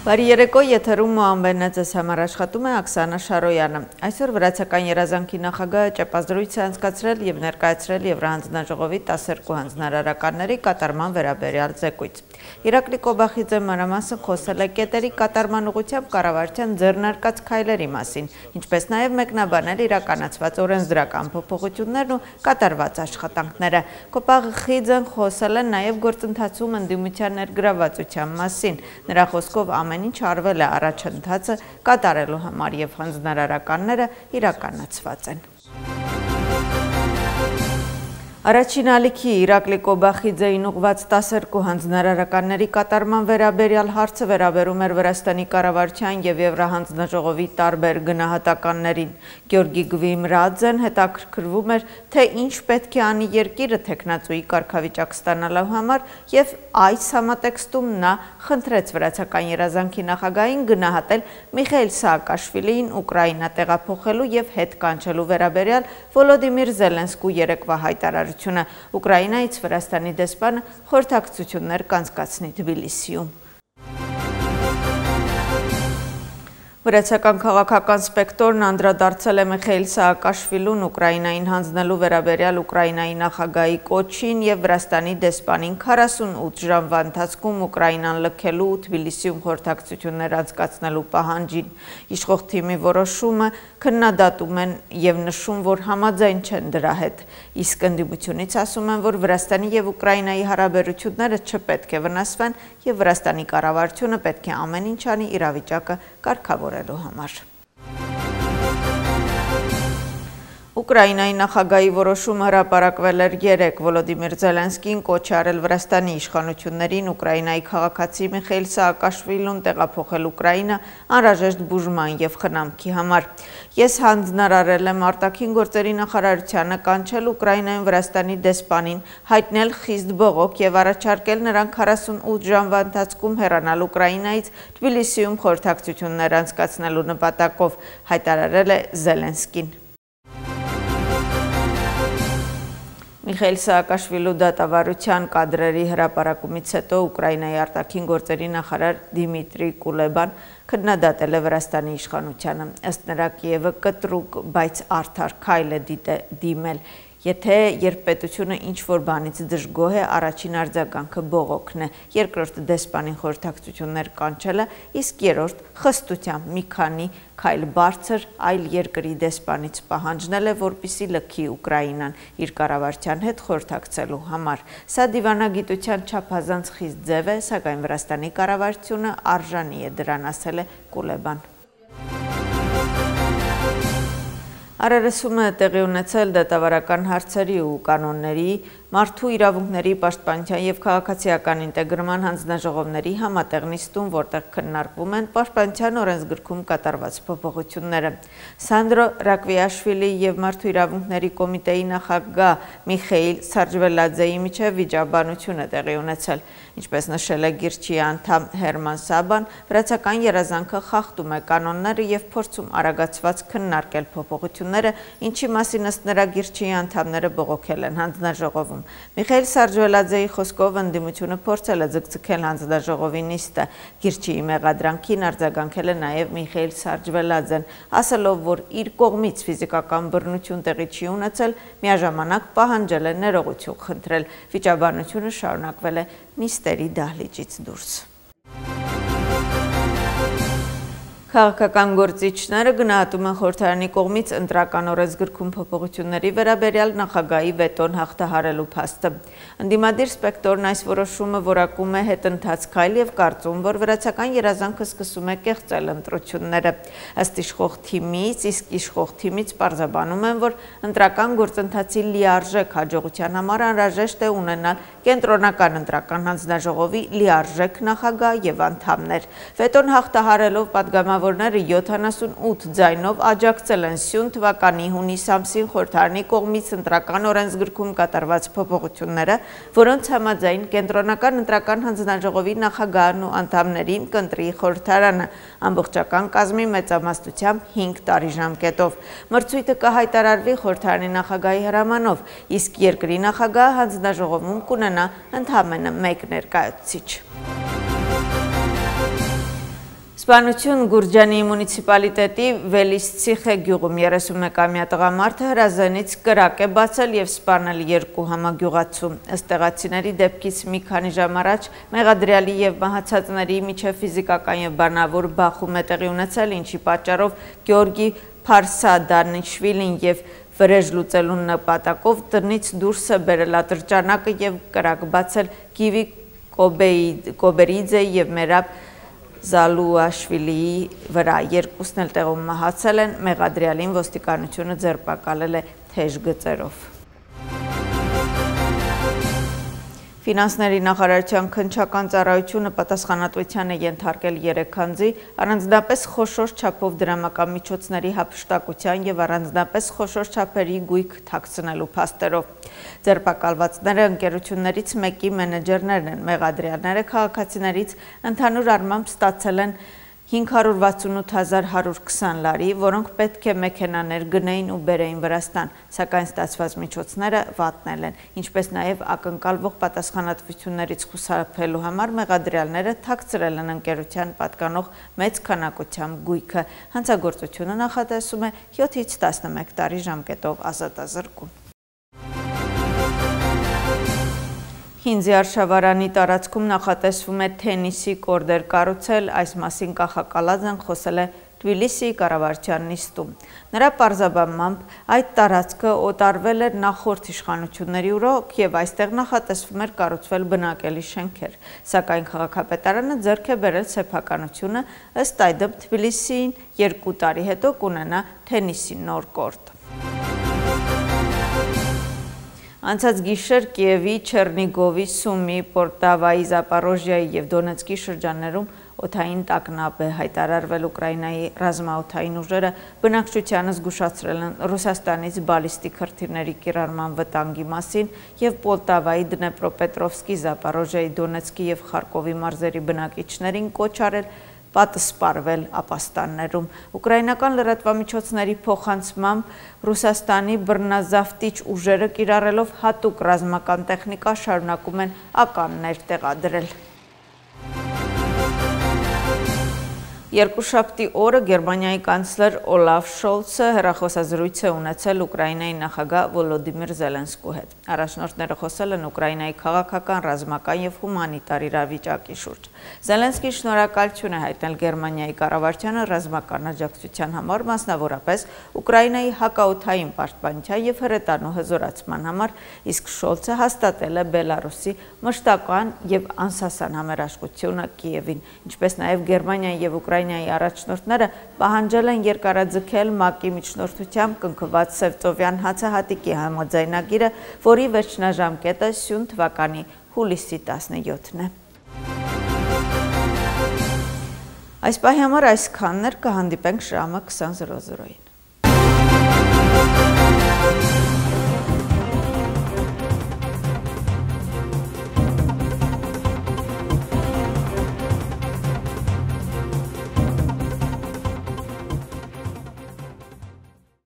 Բարի երեկո, եթերում Մոհամբերն ձեզ համար աշխատում է Աքսանա Շարոյանը։ Այսօր վրացական երազանքի նախագահը ճեպազրույց է անցկացրել եւ ներկայացրել Եվրահանձնաժողովի 12 հանձնարարականների կատարման վերաբերյալ զեկույց։ Իրակլի Կոբախիձե մանրամասն խոսել է կետերի կատարման ուղղությամբ կառավարության ձեռնարկած քայլերի մասին, ինչպես նաեւ մեկնաբանել իրականացված օրենսդրական փոփոխություններն ու կատարված աշխատանքները։ Կոբախիձեն խոսել է նաեւ գործընթացում ընդդիմության ներգրավվածության մասին։ Նրա խոսքով ամեն ինչ արվել է առաջընթացը կատարելու համար եւ հանձնարարականները իրականացված են։ Առաջին ալիքի Իրակլի Կոբախիձեին ուղղված 12 հանձնարարականների կատարման վերաբերյալ հարցը վերաբերում էր Վրաստանի կառավարության եւ Եվրահանձնաժողովի տարբեր գնահատականներին։ Գյորգի Գվիմրաձեն հետաքրքրվում էր, թե ինչ պետք է անի երկիրը թեկնածուի կարգավիճակ ստանալու համար եւ այս համատեքստում նա խնդրեց վրացական երազանքի նախագահին գնահատել Միխայիլ Սաակաշվիլիին Ուկրաինա տեղափոխելու եւ հետ կանչելու վերաբերյալ Վոլոդիմիր Զելենսկու երեկվա հայտարարությունը։ Ուկրաինայից Վրաստանի դեսպանը խորհրդակցություններ կանցկացնի Թբիլիսիում։ Վրացական քաղաքական սպեկտրն անդրադարձել է Միխայիլ Սաակաշվիլուն Ուկրաինային հանձնելու վերաբերյալ Ուկրաինայի նախագահի կոչին եւ Վրաստանի դեսպանին 48 ժամվա ընթացքում Ուկրաինան լքելու ու Թբիլիսիում խորհրդակցություններ անցկացնելու պահանջին։ Իշխող թիմի որոշումը քննադատում են եւ նշում, որ համաձայն չեն դրա հետ։ Իսկ ընդդիմությունից ասում են, որ Վրաստանի եւ Ուկրաինայի հարաբերությունները չպետք է վնասվեն եւ Վրաստանի կառավարությունը պետք է ամեն ինչ անի իրավիճակը կարգավորելու համար։ Ուկրաինայի նախագահի որոշումը հրապարակվել էր 3 Վոլոդիմիր Զելենսկին կոչ է արել Վրաստանի իշխանություններին Ուկրաինայի քաղաքացի Միխայիլ Սաակաշվիլուն տեղափոխել Ուկրաինա անհրաժեշտ բուժման եւ խնամքի համար։ Ես հանձնարարել եմ արտաքին գործերի նախարարությանը կանչել Ուկրաինայում Վրաստանի դեսպանին, հայտնել խիստ բողոք եւ առաջարկել նրան 48 ժամվա ընթացքում հեռանալ Ուկրաինայից Թբիլիսիում խորհրդակցություններ անցկացնելու նպատակով, հայտարարել է Զելենսկին։ Միխայիլ Սաակաշվիլու դատավարության կադրերի հրապարակումից հետո Ուկրաինայի արտաքին գործերի նախարար Դիմիտրի Կուլեբան քննադատել է Վրաստանի իշխանությանը։ Ըստ նրա Կիևը կտրուկ, բայց արդար քայլ է դիմել։ Եթե երբպետությունը ինչ-որ բանից դժգոհ է, առաջին արձագանքը բողոքն է, երկրորդ դեսպանին խորհրդակցություններ կանչելը, իսկ երրորդ խստությամբ մի քանի քայլ բարձր այլ երկրի դեսպանից պահանջնել է, որպեսզի լքի Ուկրաինան իր կառավարության հետ խորհրդակցելու համար։ Սա դիվանագիտության չափազանց խիստ ձև է, սակայն Վրաստանի կառավարությունը արժանի է դրան, ասել է Կուլեբան։ Արարեսում է տեղի ունեցել դատավարական հարցերի ու կանոնների, մարդու իրավունքների պաշտպանության եւ քաղաքացիական ինտեգրման հանձնաժողովների համատեղ նիստում, որտեղ քննարկվում են պաշտպանության օրենսգրքում կատարված փոփոխությունները։ Սանդրո Ռակվիաշվիլի եւ Մարդու իրավունքների կոմիտեի նախագահ Միխայիլ Սարջվելաձեի միջև վիճաբանություն է տեղի ունեցել։ Ինչպես նշել է Գիրչի անդամ Հերման Սաբան, վրացական երազանքը խախտում է կանոնները եւ փորձում արագացված քննարկել փոփոխությունները, ինչի մասին ըստ նրա Գիրչի անդամները բողոքել են հանձնաժողովում։ Միխայիլ Սարջվելաձեի խոսքով ընդդիմությունը փորձել է ձգձգել հանձնաժողովի նիստը։ Գիրչիի մեղադրանքին արձագանքել է նաեւ Միխայիլ Սարջվելաձեն, ասելով, որ իր կողմից ֆիզիկական բռնություն տեղի չի ունեցել, միաժամանակ պահանջել է ներողություն խնդրել։ Վիճաբանությունը շարունակվել է նիստերի դահլիճից դուրս։ Քաղաքական գործիչները գնահատում են խորհրդարանի կողմից ընտրական օրենսգրքում փոփոխությունների վերաբերյալ նախագահի վետոն հաղթահարելու փաստը։ Ընդդիմադիր սպեկտրն այս որոշումը որակում է հետընթաց քայլ եւ կարծում, որ վրացական երազանքը սկսում է կեղծել ընտրությունները։ Ըստ իշխող թիմից, իսկ իշխող թիմից պարզաբանում են, որ ընտրական գործընթացի լիարժեք հաջողության համար անհրաժեշտ է ունենալ կենտրոնական ընտրական հանձնաժողովի լիարժեք նախագահ եւ անդամներ։ Վետոն հաղթահարելով պատգամավորները 78 ձայնով աջակցել են սյուն թվականի հունիս ամսին խորհրդարանի կողմից ընտրական օրենսգրքում կատարված փոփոխությունները, որոնց համաձայն կենտրոնական ընտրական հանձնաժողովի նախագահն ու անդամներին կընտրի խորհրդարանը ամբողջական կազմի մեծամասնությամբ 5 տարի ժամկետով։ Մրցույթը կհայտարարվի խորհրդարանի նախագահի հրամանով, իսկ երկրի նախագահը հանձնաժողովում կունենա ընդամենը 1 ներկայացուցիչ։ Սպանություն Գուրջանի մունիցիպալիտետի Վելիսցիխե գյուղում 31-ամյա տղամարդը հրազենից կրակ է բացել և սպանել 2 համագյուղացու։ Ըստ տեղացիների դեպքից մի քանի ժամ առաջ մեղադրյալի և մահացածների միջև ֆիզիկական և բանավոր բախում է տեղի ունեցել, ինչի պատճառով Գեորգի Փարսադանիշվիլին և վրեժ լուծելու նպատակով տնից դուրս է բերել ատրճանակը և կրակ բացել Գիվի Կոբերիձե և Մերաբ Զալուաշվիլիի վրա, երկուսն էլ տեղում մահացել են, մեղադրյալին ոստիկանությունը ձերբակալել է թեժ գծերով։ Ֆինանսների նախարարության քննչական ծառայությունը պատասխանատվության է ենթարկել 3 անձի, առանձնապես խոշոր չափով դրամական միջոցների հափշտակության և առանձնապես խոշոր չափերի գույք թաքցնելու փաստերով։ Ձերբակալվածները ընկերություններից մեկի մենեջերներն են, մեղադրյալները քաղաքացիներից ընդհանուր առմամբ ստացել են 568,120 լարի, որոնք պետք է մեքենաներ գնեին ու բերեին Վրաստան, սակայն ստացված միջոցները վատնել են, ինչպես նաև ակնկալվող պատասխանատվություններից խուսափելու համար մեղադրյալները թաքցրել են ընկերության պատկանող մեծ քանակությամբ գույքը։ Հանցագործությունը նախատեսում է 7-ից 11 տարի ժամկետով ազատազրկում։ Հինձի արշավարանի տարածքում նախատեսվում է թենիսի կորդեր կառուցել, այս մասին Կախակալաձեն խոսել է Թբիլիսիի կառավարության նիստում։ Նրա պարզաբանմամբ այդ տարածքը օտարվել էր նախորդ իշխանությունների օրոք և այստեղ նախատեսվում էր կառուցվել բնակելի շենքեր, սակայն քաղաքապետարանը ձեռք է բերել սեփականությունը, ըստ այդմ Թբիլիսին 2 տարի հետո կունենա թենիսի նոր կորտ։ Անցած գիշեր Կիևի, Չեռնիգովի, Սումի, Պոլտավայի, Զապորոժիայի և Դոնեցկի շրջաններում օդային տագնապ է հայտարարվել։ Ուկրաինայի ռազմաօդային ուժերը բնակչությանը զգուշացրել են Ռուսաստանից բալիստիկ հրթիռների կիրառման վտանգի մասին և Պոլտավայի, Դնեպրոպետրովսկի, Զապորոժիայի, Դոնեցկի և Խարկովի մարզերի բնակիչներին կոչ արել պատսպարվել ապաստաններում։ Ուկրաինական լրատվամիջոցների փոխանցմամբ Ռուսաստանի բռնազավթիչ ուժերը կիրառելով հատուկ ռազմական տեխնիկա շարունակում են ականներ տեղադրել։ Երկուշաբթի օրը Գերմանիայի կանցլեր Օլաֆ Շոլցը հեռախոսազրույց է ունեցել Ուկրաինայի նախագահ Վոլոդիմիր Զելենսկու հետ։ Առաջնորդները խոսել են Ուկրաինայի քաղաքական, ռազմական և հումանիտար իրավիճակի շուրջ։ Զելենսկին շնորհակալություն է հայտնել Գերմանիայի կառավարությանը ռազմական աջակցության համար, մասնավորապես Ուկրաինայի հակաօդային պաշտպանության և հրետանու հզորացման համար, իսկ Շոլցը հաստատել է Բելարուսի մշտական և անսասան համերաշխությունը Կիևին, ինչպես նաև Գերմանիայի և Ուկրաինայի առաջնորդները պահանջել են երկարաձգել ՄԱԿ-ի միջնորդությամբ կնքված Սևծովյան հացահատիկի համաձայնագիրը, որի վերջնաժամկետը սյուն թվականի հուլիսի 17-ն է։ Այս պահի համար այսքանն էր, կհանդիպենք ժամը 20:00-ին։